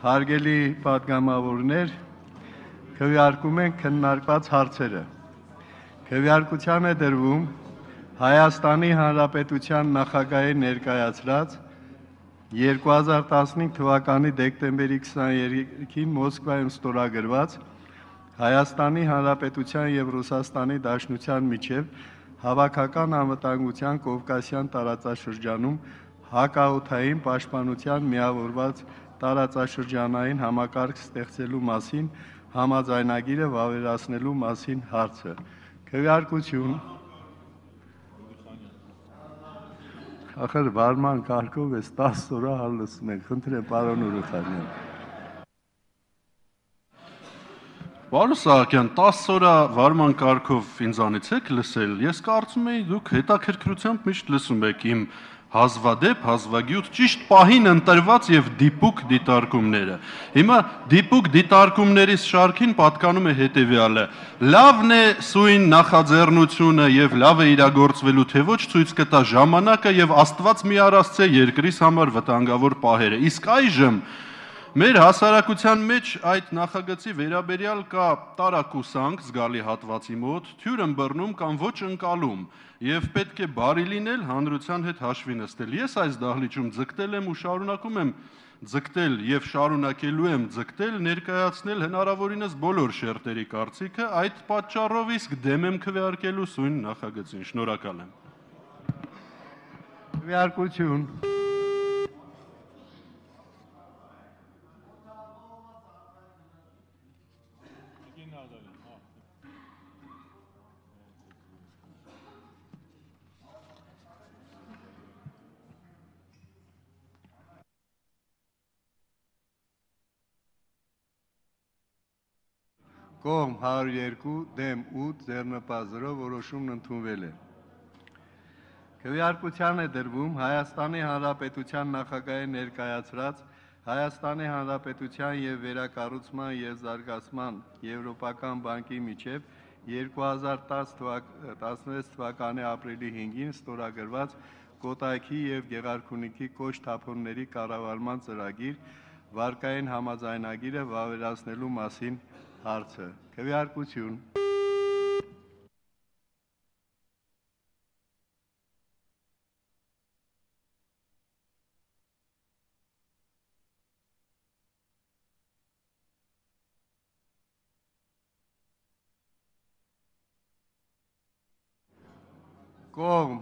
Հարգելի պատգամավորներ, քվեարկում ենք քննարկված հարցերը։ Քվեարկության է դրվում Հայաստանի Հանրապետության նախագահի ներկայացրած 2015 թվականի դեկտեմբերի 23-ին Մոսկվայում ստորագրված Հայաստանի Հանրապետության և Ռուսաստանի Դաշնության միջև հավաքական անվտանգության Կովկասյան տարածաշրջանում հակաօդային պաշտպանության միավորված տարածաշրջանային համակարգ ստեղծելու մասին համաձայնագիրը վավերացնելու մասին հարցը։ Քվեարկություն։ Ախր վարման կարգով էս 10 օրը հալսում ենք, խնդրեմ պարոն Ուրուխանյան։ Պարոն Սահակյան, 10 օրը վարման կարգով ինձանից եք լսել, ես կարծում էի դուք հետաքրքրությամբ միշտ լսում եք իմ հազվադեպ, հազվագյուտ, ճիշտ պահին ընտրված և դիպուկ դիտարկումները։ Հիմա դիպուկ դիտարկումներիս շարքին պատկանում է հետևյալը. լավն է սույն նախաձեռնությունը և լավ է իրագործվելու, թե ոչ ցույց կտա ժամանակը և Աստված մի առասցե երկրիս համար վտանգավոր պահերը։ Իսկ այժմ մեր հասարակության մեջ այդ նախագծի վերաբերյալ կա տարակուսանք զգալի հատվածի մոտ, թյուր ըմբռնում կամ ոչ ընկալում և պետք է բարի լինել հանրության հետ հաշվի նստել։ Ես այս դահլիճում ձգտել եմ ու շարունակում եմ ձգտել և շարունակելու եմ ձգտել ներկայացնել հնարավորինս բոլոր շերտերի կարծիքը, այդ պատճառով իսկ դեմ եմ քվեարկելու սույն նախագծին։ Շնորհակալ եմ։ Քվեարկություն։ Կողմ 102, դեմ 8, ձեռնպատ 0, որոշումն ընդունվել է։ Քվեարկության է դրվում Հայաստանի Հանրապետության նախագահի ներկայացրած Հայաստանի Հանրապետության և Վերակառուցման և Զարգացման Եվրոպական բանկի միջև 2016 թվականի ապրիլի 5-ին ստորագրված Կոտայքի և Գեղարքունիքի կոշտ թափոնների կառավարման ծրագիր վարկային համաձայնագիրը վավերացնելու մասին հարցը։ Քվեարկություն։ Կողմ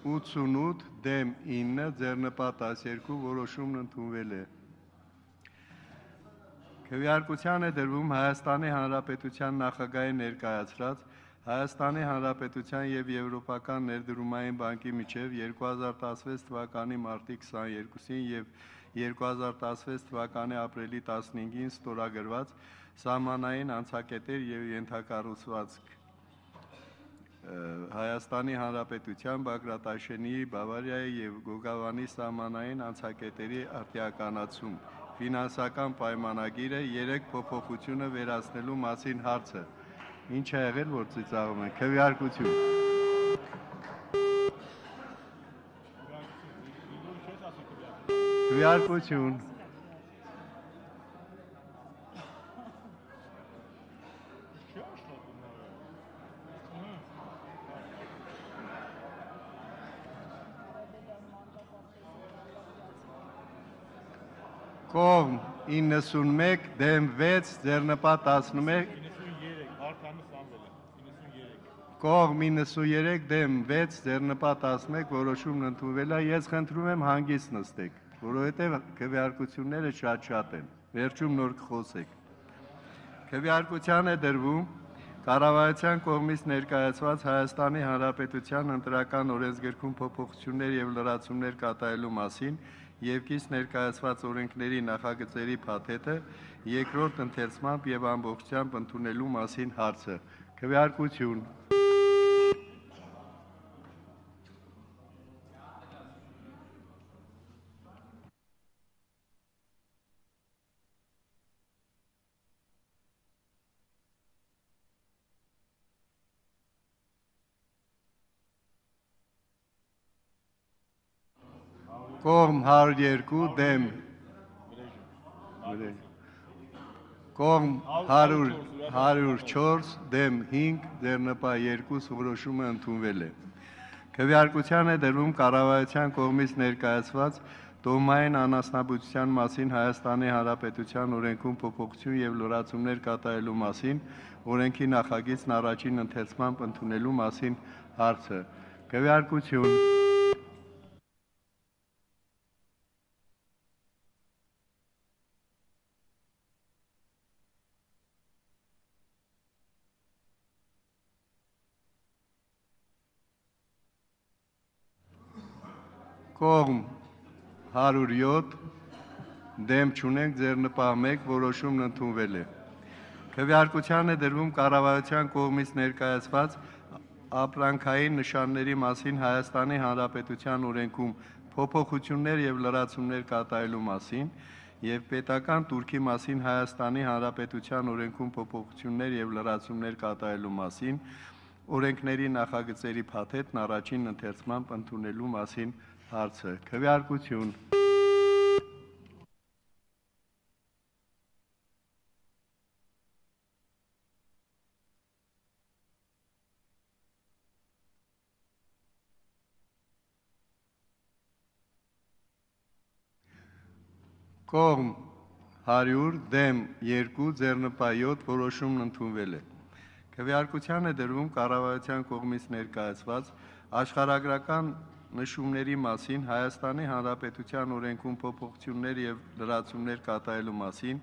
88, դեմ 9, ձեռնպատ 12, որոշումն ընդունվել է։ Քվեարկության է դրվում Հայաստանի Հանրապետության նախագահի ներկայացրած Հայաստանի Հանրապետության և Եվրոպական ներդրումային բանկի միջև 2016 թվականի մարտի 22-ին և 2016 թվականի ապրիլի 15-ին ստորագրված սահմանային անցակետեր և ենթակառուցվածք Հայաստանի Հանրապետության, Բագրատաշենիի, Բավարիայի և Գոգավանի սահմանային անցակետերի արտիականացում ֆինանսական պայմանագիրը 3 փոփոխությունը վերացնելու մասին հարցը։ Ինչ է եղել, որ ծիծաղում են։ Քվեարկություն։ Քվեարկություն։ Կողմ 91, դեմ 6, ձեռնպատ 11, կողմ 93, դեմ 6, ձեռնպատ 11, որոշումն ընդունվել է։ Ես խնդրում եմ հանգիստ նստեք, որովհետև քվեարկությունները շատ են, վերջում նոր կխոսեք։ Քվեարկության է դրվում կառավարության կողմից ներկայացված Հայաստանի Հանրապետության ընտրական օրենսգրքում փոփոխություններ և լրացումներ կատարելու մասին և կից ներկայացված օրենքների նախագծերի փաթեթը երկրորդ ընթերցմամբ և ամբողջությամբ ընդունելու մասին հարցը։ Քվեարկություն։ Կողմ 102, դեմ Կողմ 104 դեմ 5 ձեռնպահ 2 որոշումը ընդունվել է։ Քվեարկության է դրվում կառավարության կողմից ներկայացված տոհմային անասնաբուծության մասին Հայաստանի Հանրապետության օրենքում փոփոխություն եւ լրացումներ կատարելու մասին օրենքի նախագիծն առաջին ընթերցմամբ ընդունելու մասին հարցը։ Քվեարկություն Կողմ 107 դեմ չունենք ձեռնպահ 1 որոշումն ընդունվել է։ Քվեարկության է դրվում կառավարության կողմից ներկայացված ապրանքային նշանների մասին Հայաստանի Հանրապետության օրենքում փոփոխություններ եւ լրացումներ կատարելու մասին եւ պետական տուրքի մասին Հայաստանի Հանրապետության օրենքում փոփոխություններ եւ լրացումներ կատարելու մասին օրենքների նախագծերի փաթեթն առաջին ընթերցմամբ ընդունելու մասին հարցը։ Քվեարկություն Կողմ 100 դեմ 2 ձեռնպահ 7 որոշումն ընդունվել է։ Քվեարկության է դրվում կառավարության կողմից ներկայացված աշխարհագրական նշումների մասին Հայաստանի Հանրապետության օրենքում փոփոխություններ եւ լրացումներ կատարելու մասին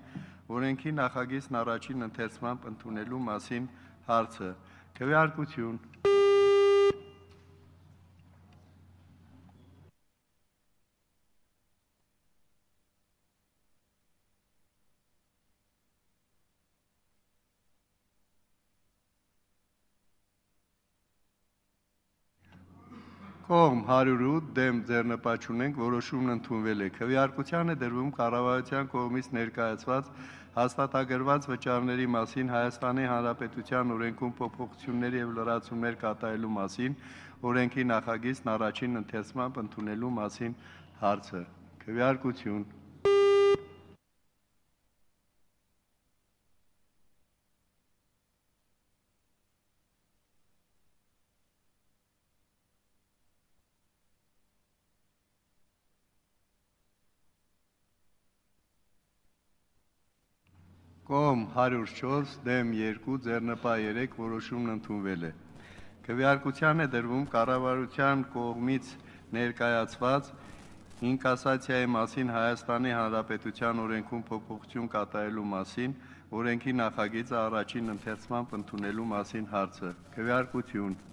օրենքի նախագիծն առաջին ընթերցմամբ ընդունելու մասին հարցը։ Քվեարկություն Կողմ 108 դեմ ձեռնպահ չունենք որոշումն ընդունվել է։ Քվեարկության է դրվում կառավարության կողմից ներկայացված հաստատագրված վճարների մասին Հայաստանի Հանրապետության օրենքում փոփոխություններ եւ լրացումներ կատարելու մասին օրենքի նախագիծն առաջին ընթերցմամբ ընդունելու մասին հարցը։ Քվեարկություն Կողմ 104 դեմ 2 ձեռնպահ 3 որոշումն ընդունվել է։ Քվեարկության է դրվում կառավարության կողմից ներկայացված ինկասացիայի մասին Հայաստանի Հանրապետության օրենքում փոփոխություն կատարելու մասին օրենքի նախագիծը առաջին ընթերցմամբ ընդունելու մասին հարցը։ Քվեարկություն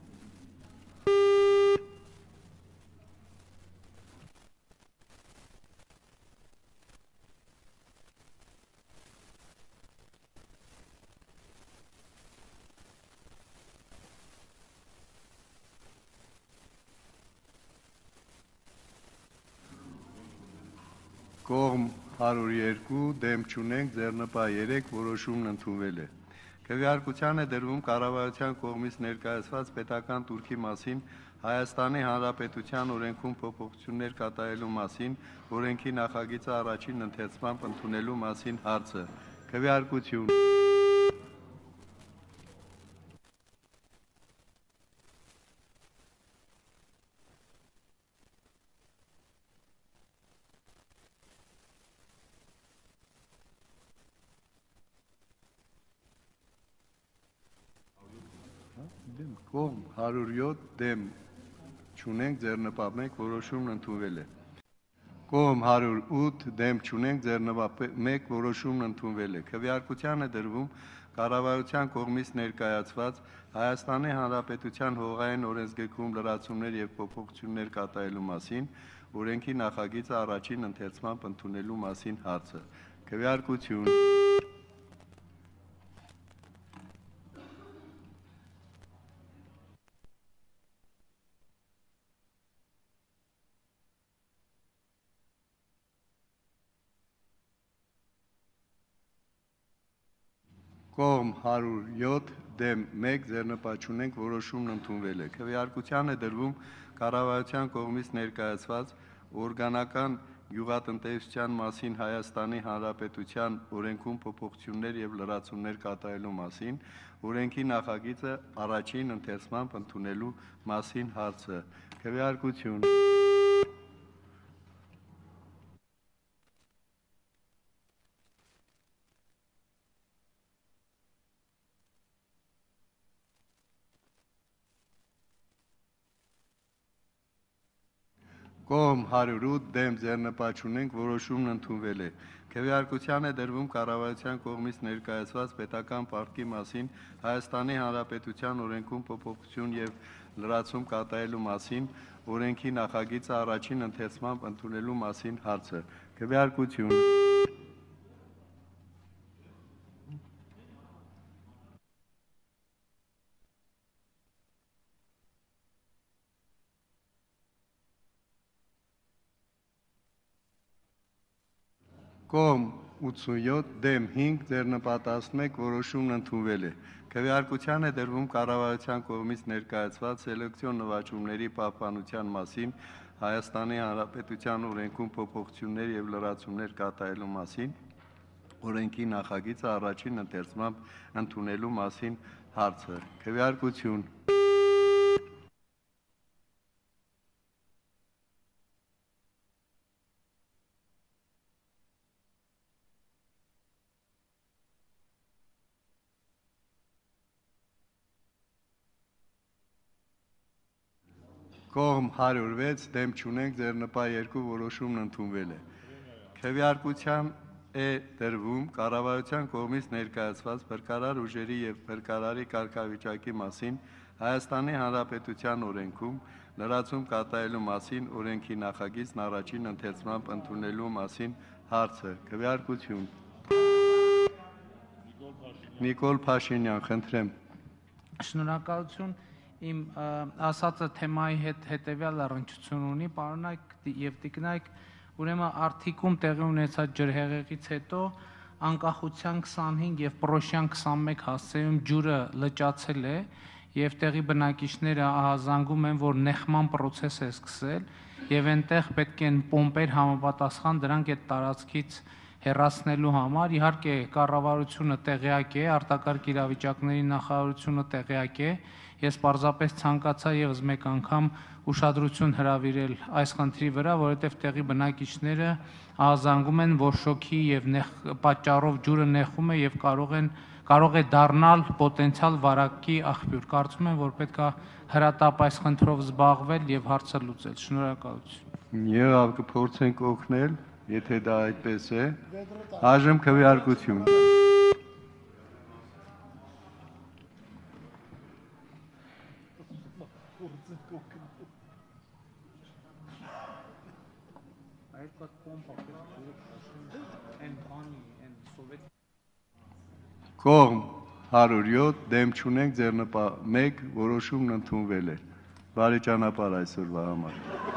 Կողմ 102 դեմ չունենք ձեռնպահ 3 որոշումն ընդունվել է։ Քվեարկության է դրվում կառավարության կողմից ներկայացված պետական տուրքի մասին Հայաստանի Հանրապետության օրենքում փոփոխություններ կատարելու մասին օրենքի նախագիծը առաջին ընթերցմամբ ընդունելու մասին հարցը։ Քվեարկություն Կողմ 107 դեմ չունենք ձեռնպահ 1 որոշումն ընդունվել է։ Կողմ 108 դեմ չունենք ձեռնպահ 1 որոշումն ընդունվել է։ Քվեարկության է դրվում կառավարության կողմից ներկայացված Հայաստանի Հանրապետության հողային օրենսգրքում լրացումներ եւ փոփոխություններ կատարելու մասին օրենքի նախագիծը առաջին ընթերցմամբ ընդունելու մասին հարցը։ Քվեարկություն Կողմ 107 դեմ 1 ձեռնպահ չունենք որոշումն ընդունվել է։ Քվեարկության է դրվում կառավարության կողմից ներկայացված օրգանական Գյուղատնտեսության մասին Հայաստանի Հանրապետության օրենքում փոփոխություններ եւ լրացումներ կատարելու մասին, օրենքի նախագիծը առաջին ընթերցմամբ ընդունելու մասին հարցը։ Քվեարկություն։ Կողմ 108 դեմ ձեռնպատ չունենք, որոշումն ընդունվել է։ Քվեարկության է դրվում կառավարության կողմից ներկայացված պետական պարտքի մասին Հայաստանի Հանրապետության օրենքում փոփոխություն եւ լրացում կատարելու մասին, օրենքի նախագիծը առաջին ընթերցմամբ ընդունելու մասին հարցը։ Քվեարկություն։ Կողմ 87 դեմ 5 ձեռնպատ 11 որոշումն ընդունվել է։ Քվեարկության է դրվում կառավարության կողմից ներկայացված սելեկցիոն նվաճումների պահպանության մասին Հայաստանի Հանրապետության օրենքում փոփոխություններ եւ լրացումներ կատարելու մասին, օրենքի նախագիծը առաջին ընթերցմամբ ընդունելու մասին հարցը։ Քվեարկություն։ Կողմ 106 դեմ չունենք, ձեռնպա 2 որոշումն ընդունվել է։ Քվեարկության է դրվում կառավարության կողմից ներկայացված փրկարար ուժերի եւ փրկարարի կարգավիճակի մասին Հայաստանի Հանրապետության օրենքում լրացում կատարելու մասին, օրենքի նախագիծն առաջին ընթերցմամբ ընդունելու մասին հարցը։ Քվեարկություն։ Նիկոլ Փաշինյան, խնդրեմ։ Շնորհակալություն։ Իմ ասածը թեմայի հետ հետևյալ առնչություն ունի, պարոնայք եւ տիկնայք, ուրեմն արդիկում տեղի ունեցած ջրհեղեղից հետո անկախության 25 եւ պրոշյան 21 հասցեում ջուրը լճացել է եւ տեղի բնակիչները ահազանգում են, որ նեղման process է սկսել եւ այնտեղ պետք են պոմպեր համապատասխան դրանք այդ տարածքից հեռացնելու համար։ Իհարկե կառավարությունը տեղյակ է, արտակարգ իրավիճակների նախարարությունը տեղյակ է։ Ես պարզապես ցանկացա եւս մեկ անգամ ուշադրություն հրավիրել այս խնդրի վրա, որովհետեւ տեղի բնակիչները ահազանգում են, որ շոքի եւ պատճառով ջուրը նեղում է եւ կարող է դառնալ պոտենցիալ վարակի աղբյուր։ Կարծում եմ, որ պետք է հրատապ այս խնդրով զբաղվել եւ հարցը լուծել։ Շնորհակալություն։ Եղավ կփորձենք օգնել, եթե դա այդպես է։ Այժմ քվեարկություն։ Կողմ 107 դեմ չունենք, ձեռնպա 1 որոշումն ընդունվել է։ Բարի ճանապարհ այսօրվա համար։